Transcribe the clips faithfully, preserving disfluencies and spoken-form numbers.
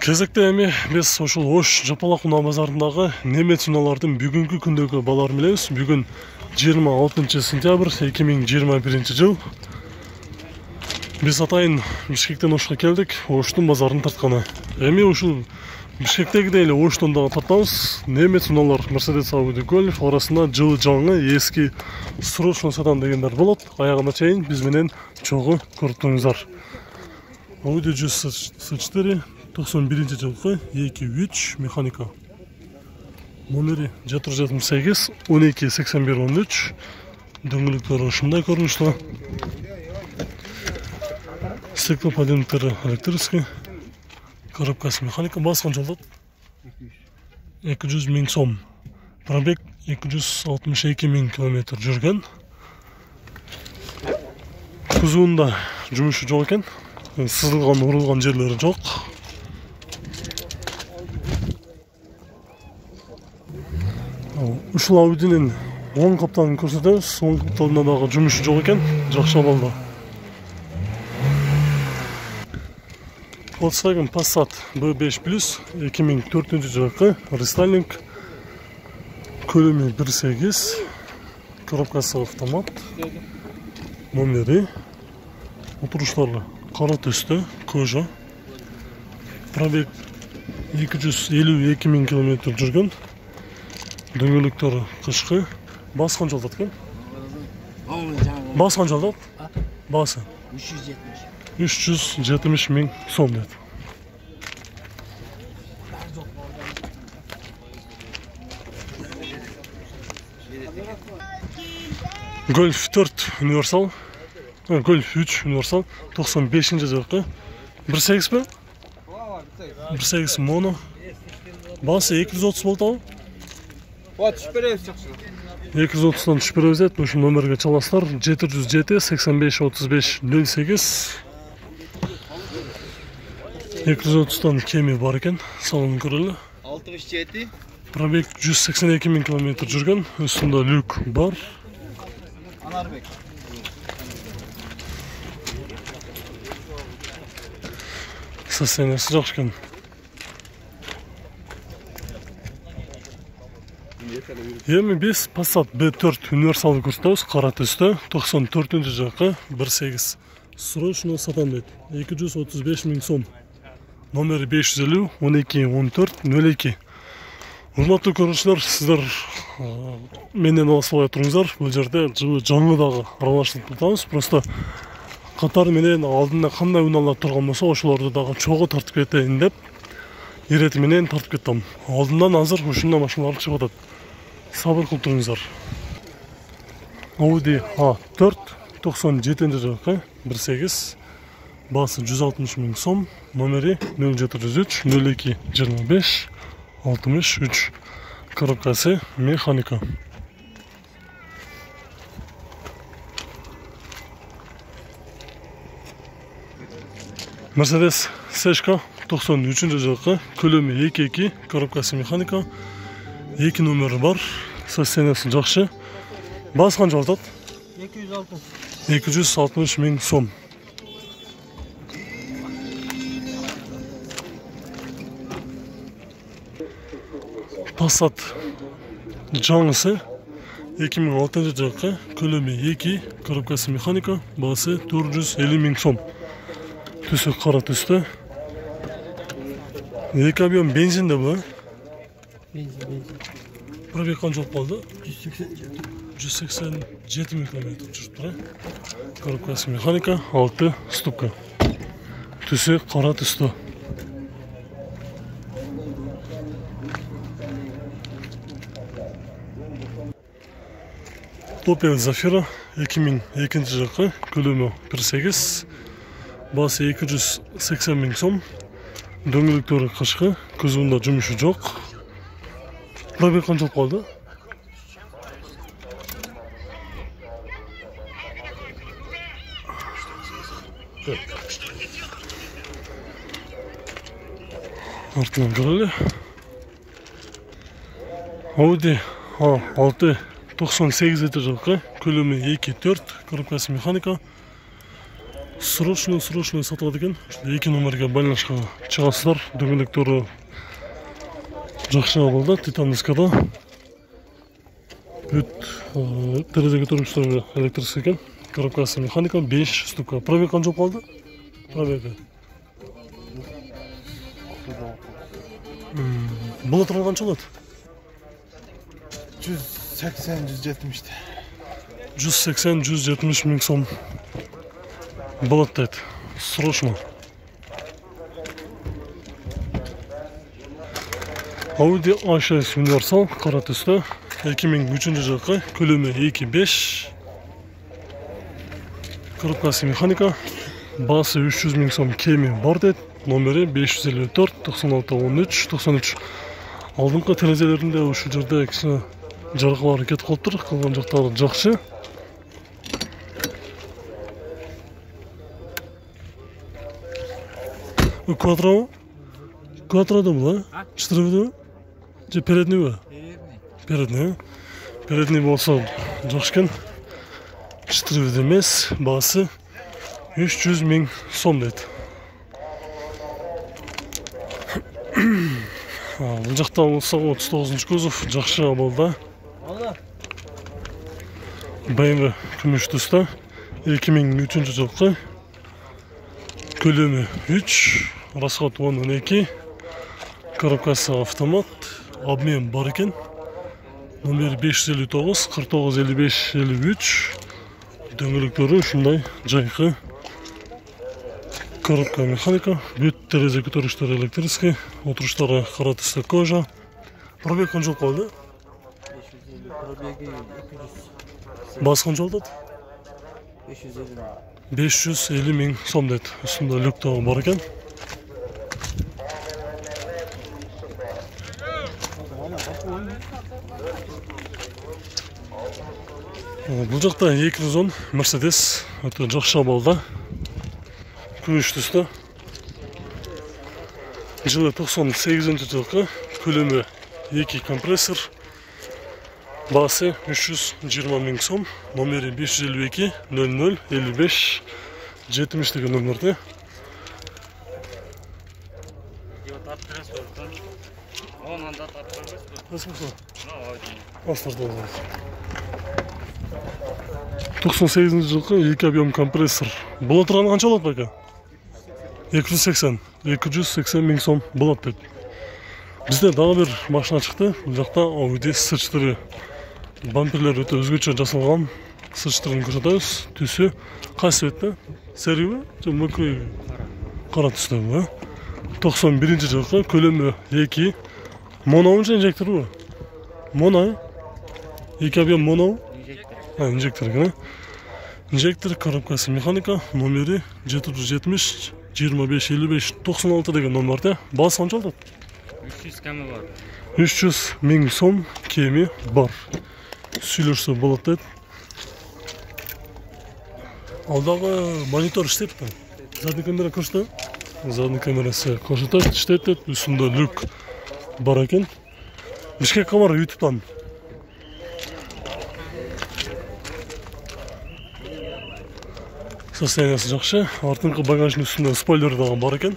Кезекте эми биз ушул Ош Жапалак унаа базарындагы немец унаалардын бүгүнкү күндөгү бааларын билебиз. Бүгүн жыйырма алтынчы сентябрь эки миң жыйырма биринчи жыл. Биз атайын Бишкектен Ошко келдик, Оштун базарын тартканы. Эми ушул Бишкектегидей эле Оштон дагы тартабыз. Немец унаалар Mercedes Audi Golf арасында жылы жаңы, эски срочно сатам дегендер болот. Аягына чейин биз менен чогуу көрүп туруңуздар. Audi жүз сексен четыре токсон биринчи жылкы эки үч механика. Номери жети жүз жетимиш сегиз он эки сексен бир он үч. Дөңгөлөктөрү ушундай көрүнүштө. Стеклоподъемниктери электрический. Коробкасы механика, баскан жолдот эки жүз миң сом. Пробег эки жүз алтымыш эки миң километр жүргөн. Кузуунда жумушу жок экен. Сызылган, урулган жерлери жок. Ушул Audинин оң капталын көрсөтөбүз. Оң капталында дагы жумушу жок экен. Жакшы абалда. Volkswagen Passat би беш плюс эки миң төртүнчү жылкы рестайлинг. Көлөмү бир сегиз. Коробкасы автомат. Номери. Отуруштары кара түстө, кожа. Пробег эки жүз элүү эки миң километр жүргөн. Дөңгөлөктөрү кышкы. Баскан жолдот экен. Баскан жолдот. Басы үч жүз жетимиш миң сом дейт. Golf төрт универсал. Golf үч универсал токсон бешинчи жылкы. бир сегиз бе? бир сегиз моно. Басы эки жүз отуз болот. отуз беребиз жакшы. эки жүз отуздан түшүп беребиз дейт. Ушул номерге чаласыздар. жети жүз жети сексен беш отуз беш нөл сегиз. эки жүз отуздан кеми бар экен. Салонун көрөлү. алтымыш жети. Пробег жүз сексен эки миң километр жүргөн. Үстүндө люк бар. Анарбек. Состояниясы жакшы экен. Эми биз Passat би төрт универсалды көрсөтөбүз. Кара түстө токсон төртүнчү жылкы бир сегиз. Срочно сатам дейт. эки жүз отуз беш миң сом. Номери беш жүз элүү он эки он төрт нөл эки. Урматтуу көрүүчүлөр, сиздер менен алыспай туруңуздар. Бул жерде жылы жаңы дагы аралашып жатабыз. Просто катар менен алдында кандай унаалар турган болсо, ошолорду дагы чогуу тартып кетейин деп ирети менен тартып кеттим. Алдынан азыр ушундай машиналар чыгып атат. Сабыр кылып туруңуздар. Audi а төрт токсон жетинчи жылкы бир сегиз. Басы жүз алтымыш миң сом. Номери нөл жети жүз үч нөл эки жыйырма беш алтымыш үч. Коробкасы механика. Mercedes Seshka токсон үчүнчү жылкы. Көлөмү эки эки. Коробкасы механика. эки номери бар. Состояниясы жакшы. Баскан жолдот эки жүз алтымыш. эки жүз алтымыш миң сом. Passat жаңысы эки миң алтынчы жылкы. Көлөмү эки. Коробкасы механика. Басы төрт жүз элүү миң сом. Түсү кара түстө. Эки объем бензин да бу. Бензин, бензин. Пробег канчалык болду? жүз сексен жети. жүз сексен жети миң километр жүрүп тура. Коробкасы механика, алты ступка. Түсү кара түстө. Opel Zafira эки миң экинчи жылкы. Көлөмү бир сегиз. Басы эки жүз сексен миң сом. Дөңгөлөктөрү кышкы. Кузуунда жумушу жок. Пробег канчалык болду? Артынан көрөлү. Audi а алты токсон сегизинчи жылкы. Көлөмү эки төрт. Коробкасы механика. срочно срочно сатылат экен. Эки номерге байланышка чыгасыздар. Дөңгөлөктөрү жакшы абалда, титанскада. Бүт терезе көтөргүчтөрү электрический экен. Коробкасы механика, беш ступка. Пробег канча калды? Пробеги. Булатыр канча болот? жүз сексен жүз жетимиште. жүз сексен жүз жетимиш миң сом болот дейт. Срочно. Audi а шесть универсал кара түстө эки миң үчүнчү жылкы, көлөмү эки беш. Коробкасы механика, баасы үч жүз миң сом кеми бар дейт. Номери беш жүз элүү төрт токсон алты он үч токсон үч. Алдыңкы терезелеринде ушул жерде кичине жарыклар кетип калыптыр, калган жактары жакшы. Квадро? Квадрода бул, а? Четыреби? Же передниби? Передний. Передний болсо жакшы экен. Четыреби эмес, баасы үч жүз миң сом дейт. Бул жакта болсо отуз тогузунчу кузов жакшы абалда. бэ эм вэ күмүш түстө эки миң үчүнчү жылкы, көлөмү үч, расход он он эки, коробкасы автомат, обмен бар экен. Номер беш жүз элүү тогуз кырк тогуз элүү беш элүү үч. Дөңгөлөктөрү ушундай жайкы. Коробка механика, бүт терезе көтөргүчтөрү электрический, отуруштары кара түстө кожа. Пробег канча калды? Пробеги эки жүз. Баасы канча болот? беш жүз элүү. беш жүз элүү миң сом дейт. Үстүндө люк да бар экен. Бул жакта эки жүз он Mercedes өтө жакшы абалда. Күмүш түстө. Жылы токсон сегизинчи жылкы, көлөмү эки компрессор. Баасы үч жүз жыйырма миң сом. Номери беш жүз элүү эки нөл нөл элүү беш жетимиш деген номерде. токсон сегизинчи жылкы эки объем компрессор. Боло турганы канча болот байка? эки жүз сексен. эки жүз сексен миң сом болот дейт. Бизде дагы бир машина чыкты. Бул жакта Audi эс четыре. Бамперлер өтө өзгөчө жасалган. эс четырени көрсөтөбүз. Түсү кайсы цветте? Сериби же мөкөй? Кара түстө. токсон биринчи жылкы, көлөмү эки. Моно же инжекторбу? Моно. эки объем моно. А, инжектор экен. Инжектор, коробкасы механика, номери жети жүз жетимиш жыйырма беш элүү беш токсон алты деген номерде. Баасы канча болот? үч жүз кеми бар. үч жүз миң сом кеми бар. Сүйлөшсө болот дейт. Алдагы монитор иштейт. Задний камера көрсөтөбү? Задний камерасы көрсөтөт, иштейт дейт. Үстүндө люк бар экен. Бишкек камера YouTube'дан. Состояниясы жакшы. Артыңкы багаждын үстүндө спойлер дагы бар экен.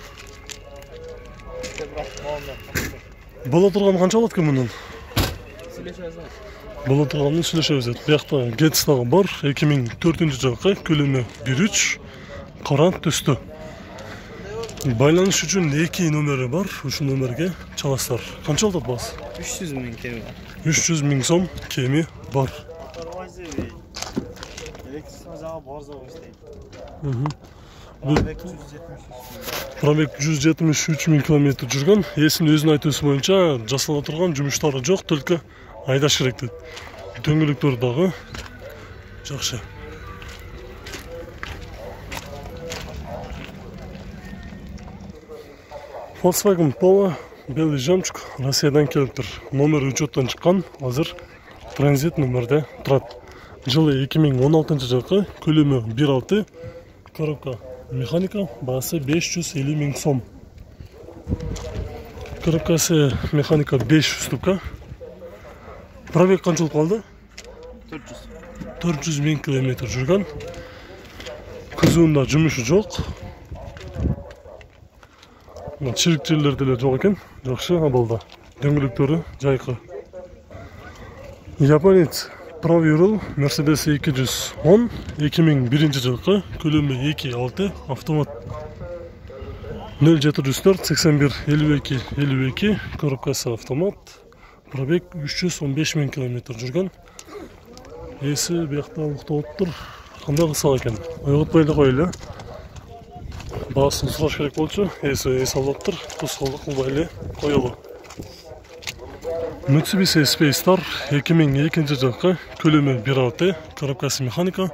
Боло турган канча болот экен мунун? Боло турганын сүйлөшөбүз. Биякта Getz дагы бар. эки миң төртүнчү жылкы, көлөмү бир үч, кара түстө. Байланыш үчүн эки номери бар. Ушул номерге чаласыздар. Канча болот баасы? үч жүз миң кеми бар. үч жүз миң сом кеми бар. Пробег жүз жетимиш үч миң километр жүргөн. Эсин өзүнүн айтуусу боюнча жасала турган жумуштары жок, только айдаш керек дейт. Дөңгөлөктөр дагы жакшы. Volkswagen Polo белый жемчуг Россиядан келиптир. Номер учеттон чыккан, азыр транзит номерде турат. Жылы эки миң он алтынчы жылкы, көлөмү бир алты, коробка механика, баасы беш жүз элүү миң сом. Коробкасы механика беш ступка. Пробег канча болуп калды? төрт жүз. төрт жүз миң километр жүргөн. Кузуунда жумушу жок. Чирик жерлер деле жок экен. Жакшы абалда. Дөңгөлөктөрү жайкы. Японец Proviral Mercedes эки жүз он эки миң биринчи жылкы, көлөмү эки алты, автомат нөл жети жүз төрт сексен бир элүү эки элүү эки, коробкасы автомат, пробег үч жүз он беш миң километр жүргөн. Эси биякта уктоптур. Кандай кылсак экен? Ойготпой эле коелу. Баасын сураш керек болчу. Эси эс алыптыр. Тускалдык кылбай эле коелу. Mitsubishi Space Star эки миң экинчи жылкы, көлөмү бир алты, коробкасы механика.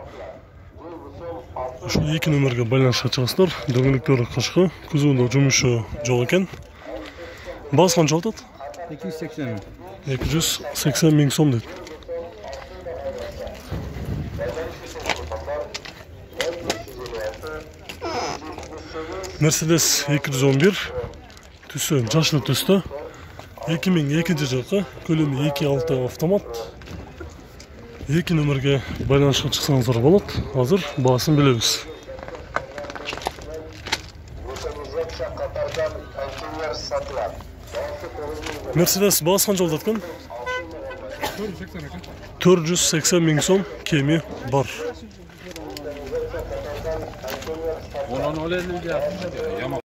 Ушул эки номерге байланышка чыгасыздар. Дөңгөлөктөрү кышкы, кузуунда жумушу жок экен. Баасы канча атат? эки жүз сексен миң. эки жүз сексен миң сом дейт. Mercedes эки жүз он бир, түсү жашыл түстө. эки миң экинчи жылкы, көлөмү эки алты автомат. эки номерге байланышка чыксаңыздар болот. Азыр баасын билебиз. Mercedes баасы канча болот экен? төрт жүз сексен миң сом кеми бар. Онон оле эле